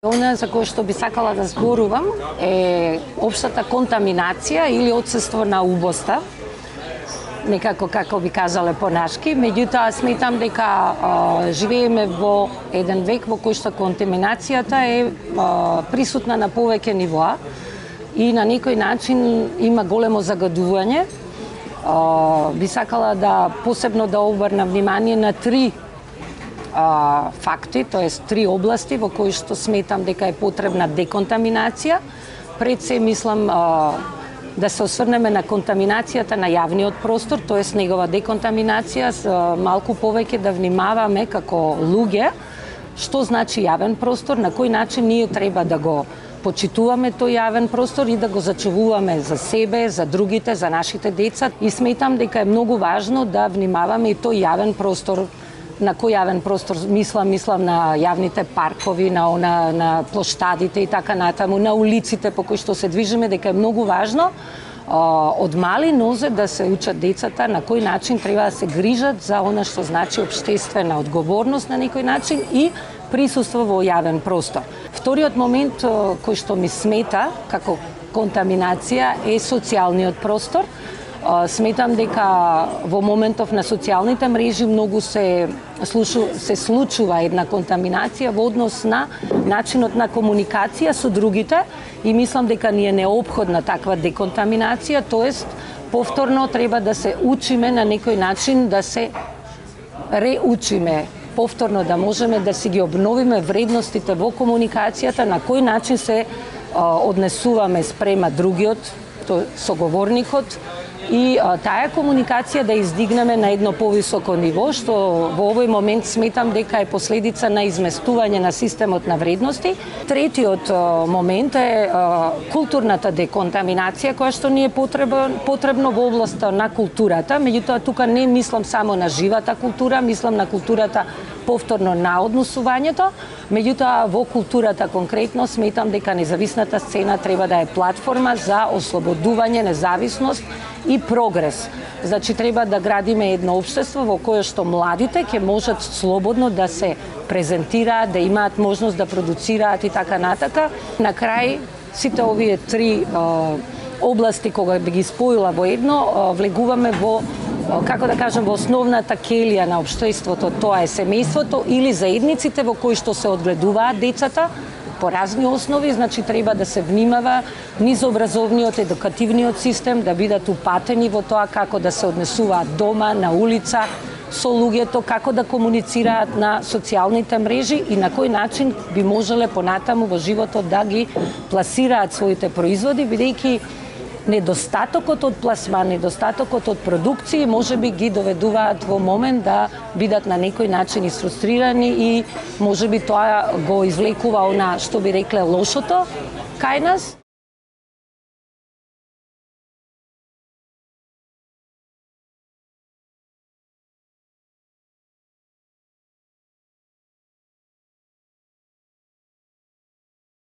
Она за кој што би сакала да зборувам е општата контаминација или отсуство на убоста, некако како би кажале понашки. Меѓутоа сметам дека живееме во еден век во кој што контаминацијата е присутна на повеќе нивоа и на некој начин има големо загадување. Би сакала да посебно да обрнам внимание на три факти, тоест три области во кои што сметам дека е потребна деконтаминација. Пред се мислам да се осврнеме на контаминацијата на јавниот простор, тоест негова деконтаминација, малку повеќе да внимаваме како луѓе што значи јавен простор, на кој начин ние треба да го почитуваме тој јавен простор и да го зачувуваме за себе, за другите, за нашите деца. И сметам дека е многу важно да внимаваме и тој јавен простор. На кој јавен простор мислам на јавните паркови, на плоштадите и така натаму, на улиците по кои што се движиме, дека е многу важно од мали нозе да се учат децата на кој начин треба да се грижат за она што значи општествена одговорност на некој начин и присуство во јавен простор. Вториот момент кој што ми смета како контаминација е социјалниот простор. Сметам дека во моментов на социјалните мрежи многу се случува една контаминација во однос на начинот на комуникација со другите и мислам дека ни е неопходна таква деконтаминација, тоест повторно треба да се учиме на некој начин, да се реучиме, повторно да можеме да си ги обновиме вредностите во комуникацијата, на кој начин се однесуваме спрема другиот, соговорникот, и таа комуникација да издигнеме на едно повисоко ниво, што во овој момент сметам дека е последица на изместување на системот на вредности. Третиот момент е културната деконтаминација, која што ни е потребно во областа на културата, меѓутоа тука не мислам само на живата култура, мислам на културата повторно на однесувањето, меѓутоа во културата конкретно сметам дека независната сцена треба да е платформа за ослободување, независност и прогрес. Значи треба да градиме едно општество во кое што младите ќе можат слободно да се презентираат, да имаат можност да продуцираат и така натака. На крај сите овие три области кога би ги споила во едно, влегуваме во, како да кажем, во основната келија на општеството, тоа е семејството или заедниците во кои што се одгледуваат децата по разни основи, значи треба да се внимава низ образовниот, едукативниот систем, да бидат упатени во тоа како да се однесуваат дома, на улица, со луѓето, како да комуницираат на социјалните мрежи и на кој начин би можеле понатаму во животот да ги пласираат своите производи, бидејќи недостатокот од пласман, недостатокот од продукции можеби ги доведуваат во момент да бидат на некој начин исфрустрирани и можеби тоа го извлекува она што би рекле лошото кај нас.